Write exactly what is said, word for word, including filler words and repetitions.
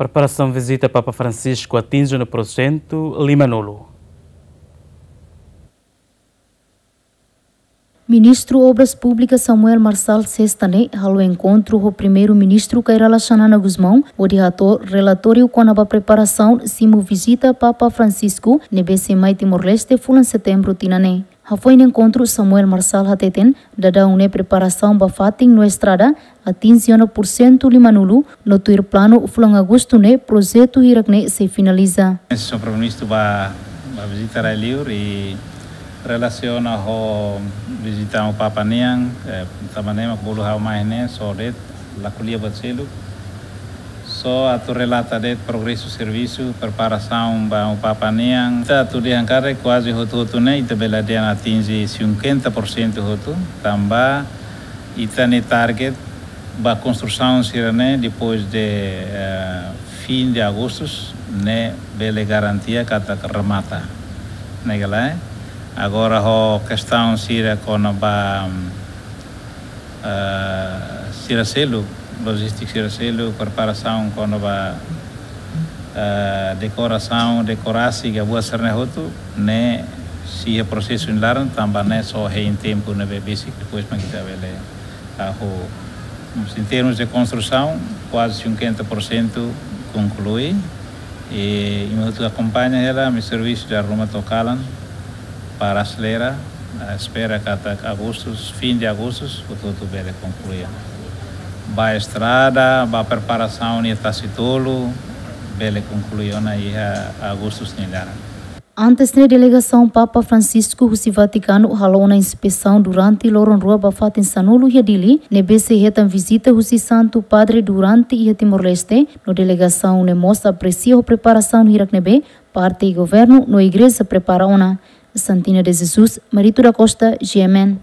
Preparasaun vizita Papa Francisco atinje ona pursentu limanulu. Ministru Obras Públikas Samuel Marçal Sesta ne'e halo enkontru ho Primeiru-Ministru Kay Rala Xanana Gusmão, hodi hato'o relatóriu kona-ba preparasaun simu vizita Papa Francisco ne'ebé sei mai Timor-Leste fulan Setembru tinan ne'e. Hafoin enkontru, Samuel Marçal hateten, daudaun ne'e preparasaun ba fatin no estrada atinje ona pursentu limanulu, no tuir planu fulan Agostu ne'e projetu hirak ne'e sei finaliza. Señór Primeiru-Ministru ba, ba vizita rai-li'ur i relasiona ho vizita Amu Papa nian, eh, tanba ne'e mak bolu ha'u mai ne'e, só de'it, la ko'alia buat seluk. Só atu relata de'it progresu servisu, preparasaun ba Amu Papa nian. Ita atu dehan katak kuaze hotu-hotu ne'e, ita bele dehan atinje cinquenta por cento hotu, tanba ita-nia target ba konstrusaun sira-ne'e, depois de, eh, fim de Agosto, ne'e bele garantia katak remata. Ne'e ka lae? Agora ho kestaun sira kona-ba, eh, sira seluk, lojístika sira seluk, preparasaun kona-ba, eh, dekorasaun, dekorasi, ka buat sira-ne'e hotu, ne'e sei iha prosesu nia laran, tanba ne'e só hein tempu ne'ebé besik, depois mak ita bele hahú. Em termos de konstrusaun, kuaze cinquenta por cento konklui. I, i ita akompaña hela, ami servisu dala ruma to'o kalan, para aselera, eh, espera katak Agostu, fim de Agostu, hotu-hotu bele konklui. Ba estrada, ba preparasaun nia tasi-tolu, bele konklui ona iha Agostu nia laran. Antes ne'e, delegasaun Papa Francisco husi Vatikanu halo ona inspesaun durante loron rua ba fatin sanulu iha Dili, ne'ebé sei hetan vizita husi Santu Padre durante iha Timor-Leste, no delegasaun ne'e mós apresia ho preparasaun hirak ne'ebé parte governu no igreja prepara ona. Santina de Jesus, Marito da Costa, G M N.